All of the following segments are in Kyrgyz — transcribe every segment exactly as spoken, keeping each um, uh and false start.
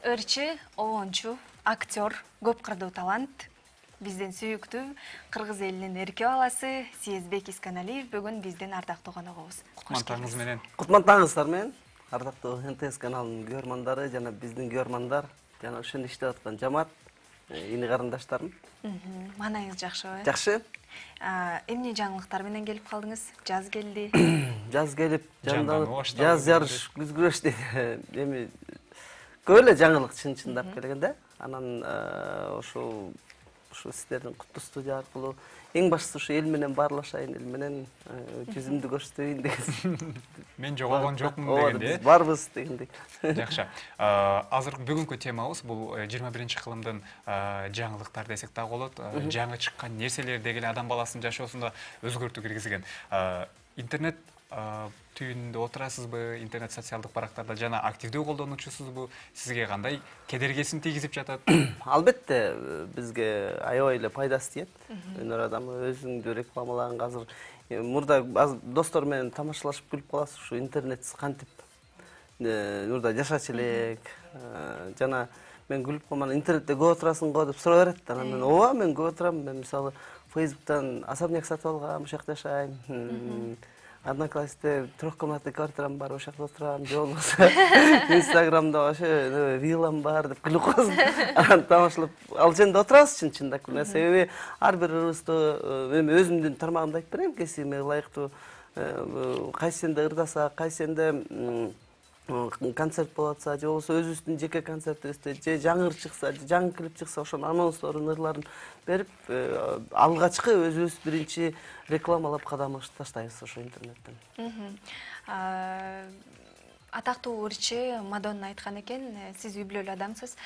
ырчы, оончу, актер, көп кырдуу талант. Биздин сүйүктүү кыргыз элинин эрке баласы Сезбек Исканалиев бүгүн биздин ардактуу коногубуз. Кутман таңыңыз менен. Кутман таңыңыздар менен. Ардактуу эн тэ эс каналынын көрөрмандары жана биздин көрөрмандар жана ошону иштеп аткан жамаат, ини карындаштарым. Маанайыңыз жакшыбы? Жакшы. Эмне жаңылыктар менен келип калдыңыз? Жаз келди. Жаз келип, жанданып, жаз жарыш, күз күрөш дейт. Эми көп эле жаңылык чын-чындап келгенде. Анан ошол ушул сиздердин куттуу студия аркылуу эң баштысы ушу эл менен баарлашайын, эл менен жүзүмдү көрсөтөйүн деген. Мен жоголгон жокмун дегенде. Биз барбыз дегендей. Жакшы. Азыр бүгүнкү темабыз бул жыйырма биринчи кылымдын жаңылыктар десек дагы болот. Жаңы чыккан нерселер деген адам баласынын жашоосунда өзгөртүү киргизген. Интернет түйүнүндө отурасызбы, интернет социалдык барактарда жана активдүү колдонуучусузбу? Сизге кандай кедергесин тийгизип жатат? Албетте, бизге аябай эле пайдасы тиет. Өнөр адамы өзүңдү рекламалаганга азыр мурда достор менен тамашалашып күлүп каласыз, ушу интернетсиз кантип мурда жашачу элек. Жана мен күлүп калман, интернетте көп отурасың го деп сурап берет. Анан мен ооба, мен көп отурам. Мен мисалы Фейсбуктан особняк сатып алгам, ошол жакта жашайм. Одноклассникте трехкомнатный квартирам бар, ошол жакта отурам. Же болбосо Инстаграмда ошо виллам бар деп күлүп каласың. Анан тамашалап, ал жерде отурасыз чын-чындап. Себеби ар бир ырыстуу, эми өзүмдүн тармагымды айтып берейин, кесиме ылайыктуу кайсенде ырдаса, кайсенде концерт болуп атса, же болбосо өзүбүздүн жеке концертибизде же жаңы ыр чыкса, жаңы клип чыкса, ошонун анонсторун, ырларын берип, алгачкы өзүбүз биринчи рекламалап кадамыбызды таштайбыз ошо интернеттен. Атактуу ырчы Мадонна айткан экен, сиз үй бүлөлүү адамсыз.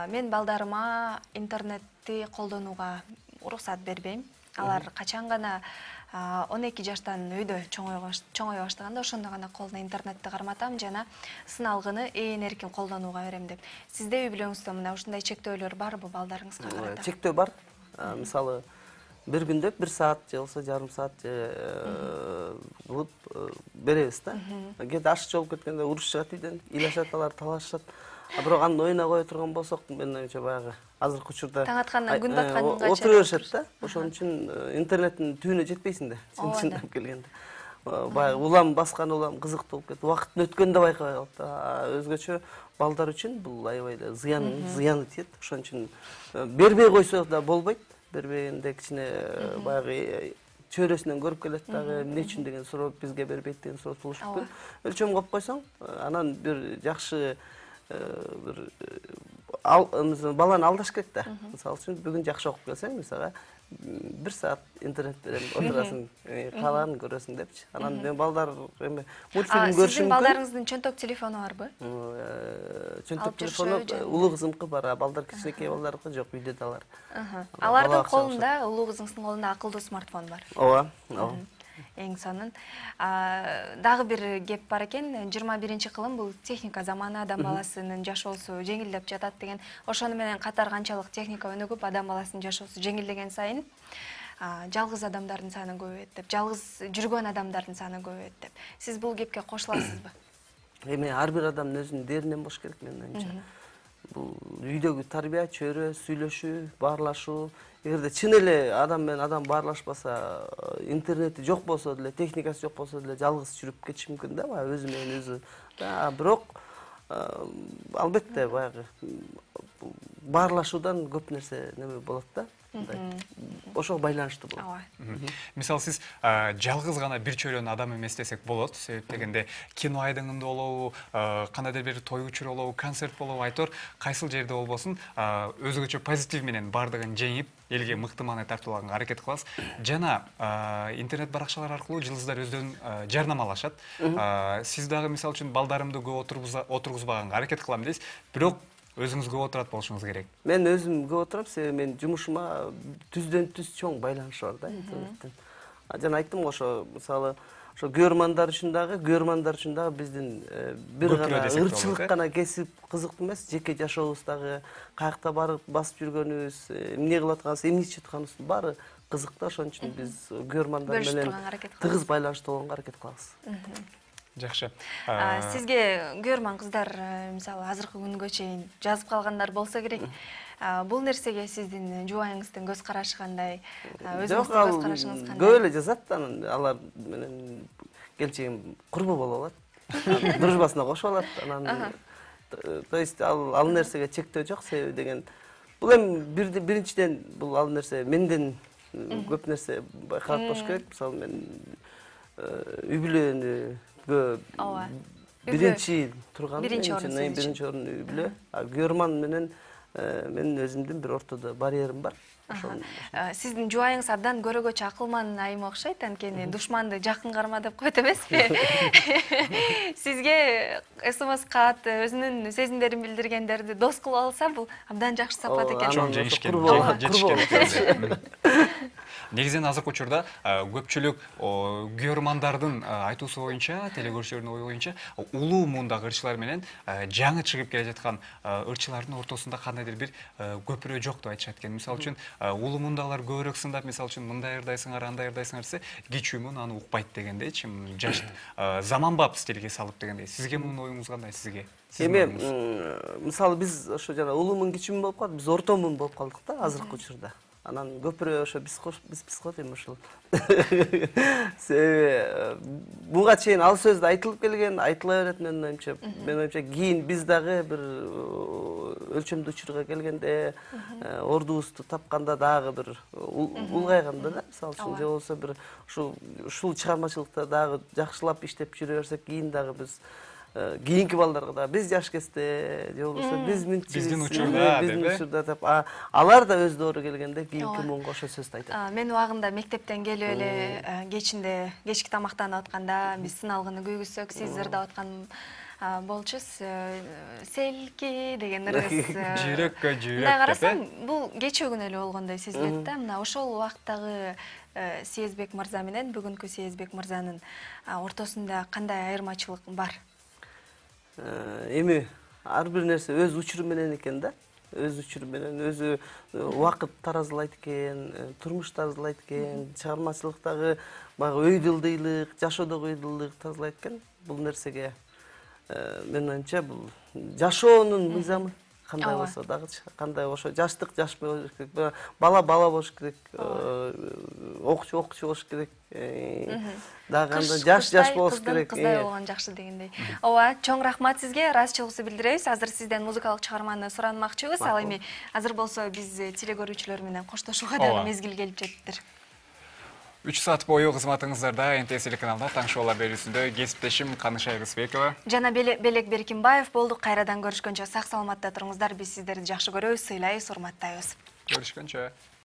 Мен балдарыма интернетти колдонууга уруксат бербейм. Алар качан гана он эки жаштан үйдө чоңой баштаганда ошондо гана колуна интернетти карматам жана сыналгыны ээн эркин колдонууга берем деп. Сизде үй бүлөңүздө мына ушундай чектөөлөр барбы балдарыңызга карата? Чектөө бар. Мисалы, бир күндө бир саат же болбосо жарым саат кылып беребиз да. Кээде аш чогулуп кеткенде урушушат үйдөн, ыйлашат алар, талашышат. А бирок аны оюна кое турган болсок, мен оюмча баягы азыркы учурда таң аткандан күн батканга отура беришет да. Ошон үчүн интернеттин түбүнө жетпейсиң да, чын-чындап келгенде. Баягы улам баскан улам кызыктуу болуп кетип, убакыттын өткөнүн да байкабай калат да. Өзгөчө балдар үчүн бул аябай эле зыян, зыяны тиет. Ошон үчүн бербей койсо да болбойт. Бербегенде кичине баягы чөйрөсүнөн көрүп келет дагы, эмне үчүн деген суроо бизге бербейт деген суроо туулушуп келет. Өлчөм коюп койсоң, анан бир жакшы бир баланы алдаш керек да. Мисалы үчүн бүгүн жакшы окуп келсең, мисалы бир саат интернет берем, отурасың, каалаганын көрөсүң депчи. Анан мен балдар эми мультфильм көрүшүм мүмкүн. Балдарыңыздын чөнтөк телефону барбы? Чөнтөк телефону улуу кызымкы бар, балдар кичинекей балдарыкы жок, үйдө да алар. Алардын колунда, улуу кызыңыздын колунда акылдуу смартфон бар. Ооба, ооба. Эң сонун. Дагы бир кеп бар экен, жыйырма биринчи кылым бул техника заманы, адам баласынын жашоосу жеңилдеп жатат деген. Ошону менен катар канчалык техника өнүгүп, адам баласынын жашоосу жеңилдеген сайын жалгыз адамдардын саны көбөйөт деп, жалгыз жүргөн адамдардын саны көбөйөт деп. Сиз бул кепке кошуласызбы? Эми ар бир адамдын өзүнүн деринен болуш керек менин оюмча. Бул үйдөгү тарбия, чөйрө, сүйлөшүү, баарлашуу. Эгерде чын эле адам менен адам баарлашпаса, интернети жок болсо деле, техникасы жок болсо деле жалгыз жүрүп кетиши мүмкүн да, баягы өзү менен өзү. Бирок албетте баягы баарлашуудан көп нерсе неме болот да. Ошого байланыштуу болот. Мисалы сиз жалгыз гана бир чөйрөнүн адамы эмес десек болот. Себеп дегенде кино айдыңында болобу, кандайдыр бир той учур болобу, концерт болобу, айтор кайсыл жерде болбосун өзгөчө позитив менен бардыгын жеңип, элге мыкты маанай тартуулаганга аракет кыласыз. Жана интернет баракчалар аркылуу жылдыздар өздөрүн жарнамалашат. Сиз дагы мисалы үчүн балдарымды көп отургузбаганга аракет кылам дейсиз. Бирок өзүңүз көп отурат болушуңуз керек. Мен өзүм көп отурам, себеби менин жумушума түздөн түз чоң байланышы бар да интернеттен. Жана айттым го, ошо мисалы ошо көрөрмандар үчүн дагы, көрөрмандар үчүн дагы биздин бир гана ырчылык гана кесип кызыктуу эмес, жеке жашообуздагы каякта барып басып жүргөнүбүз, эмне кылып атканыбыз, эмне ичип атканыбыздын баары кызык да. Ошон үчүн биз көрөрмандар менен тыгыз байланыштуу болгонго аракет кылабыз. Жакшы. Сизге көрмөн кыздар, мисалы азыркы күнгө чейин жазып калгандар болсо керек. Бул нерсеге сиздин жубайыңыздын көз карашы кандай? Өзүңүздүн көз карашыңыз кандай? Көп эле жазат, анан алар менен келчегим курбу болуп алат. Дружбасына кошуп алат. Анан то есть ал ал нерсеге чектөө жок, себеби деген бул эми биринчиден бул ал нерсе менден көп нерсе байкалат болуш керек. Мисалы мен үй бүлөнүгө биринчи турган, биринчи орун сиздин. Биринчи орун үй бүлө. Көрман менен менин өзүмдүн бир ортодо барьерим бар. Сиздин жубайыңыз абдан көрөгөчө акылман айым окшойт, анткени душманды жакын карма деп койт эмеспи? Сизге смс кат, өзүнүн сезимдерин билдиргендерди дос кылып алса, бул абдан жакшы сапат экен. Чоң жеңишкен, жетишкен. Негизинен азыркы учурда көпчүлүк көрмандардын айтуусу боюнча, телекөрүүчүлөрдүн ою боюнча, улуу муундагы ырчылар менен жаңы чыгып келе жаткан ырчылардын ортосунда кандайдыр бир көпүрө жок деп айтышат экен. Мисалы үчүн улуу муундагылар көбүрөөк сындап, мисалы үчүн мындай ырдайсыңар, андай ырдайсыңар десе, кичүү муун аны укпайт дегендейчи, жаш заманбап стилге салып дегендей. Сизге мунун оюңуз кандай? Сизге? Эми мисалы биз ошо жана улуу муун кичүү муун болуп калдык, биз орто муун болуп калдык да азыркы учурда. Анан көпүрө ошо биз биз биз коет эми ошол. Себеби буга чейин ал сөз да айтылып келген, айтыла берет менин оюмча. Менин оюмча кийин биз дагы бир өлчөмдүү учурга келгенде, ордубузду тапканда дагы бир улгайганда да, мисалы үчүн же болбосо бир ушул ушул чыгармачылыкта дагы жакшылап иштеп жүрө берсек, кийин дагы биз кийинки балдарга да биз жаш кезде же болбосо биз мынча биздин учурда биздин учурда деп алар да өздөрү келгенде кийинки муунга ошо сөздү айтат. Мен убагында мектептен келип эле кечинде кечки тамактанып атканда биз сыналгыны күйгүзсөк, сиз ырдап аткан болчусуз. Селки деген ырыс. Жүрөккө жүрөк. Мындай карасам, бул кечээ күнү эле болгондой сезилет да. Мына ошол убактагы Сезбек мырза менен бүгүнкү Сезбек мырзанын ортосунда кандай айырмачылык бар? Эми ар бир нерсе өз учуру менен экен да. Өз учуру менен, өзү убакыт таразылайт экен, турмуш таразылайт экен, чыгармачылыктагы баягы өйдөлдүйлүк, жашоодогу өйдөлдүйлүк таразылайт экен. Бул нерсеге менин оюмча бул жашоонун мыйзамы. Кандай болсо дагы, кандай ошо жаштык жаш болуш керек, бала бала болуш керек, окуучу окуучу болуш керек, дагы анда жаш жаш болуш керек. Кыздай болгон жакшы дегендей. Ооба, чоң рахмат сизге, ыраазычылыгыбызды билдиребиз. Азыр сизден музыкалык чыгарманы суранмакчыбыз. Ал эми азыр болсо биз телекөрүүчүлөр менен коштошууга дагы мезгил келип жетиптир. үч саат бою кызматыңыздарда Н Т С телеканалда таң шоулар берүүсүндө кесиптешим Канышай Рысбекова жана Белек Беркимбаев болдук. Кайрадан көрүшкөнчө сак саламатта туруңуздар. Биз сиздерди жакшы көрөбүз, сыйлайбыз, урматтайбыз. Көрүшкөнчө.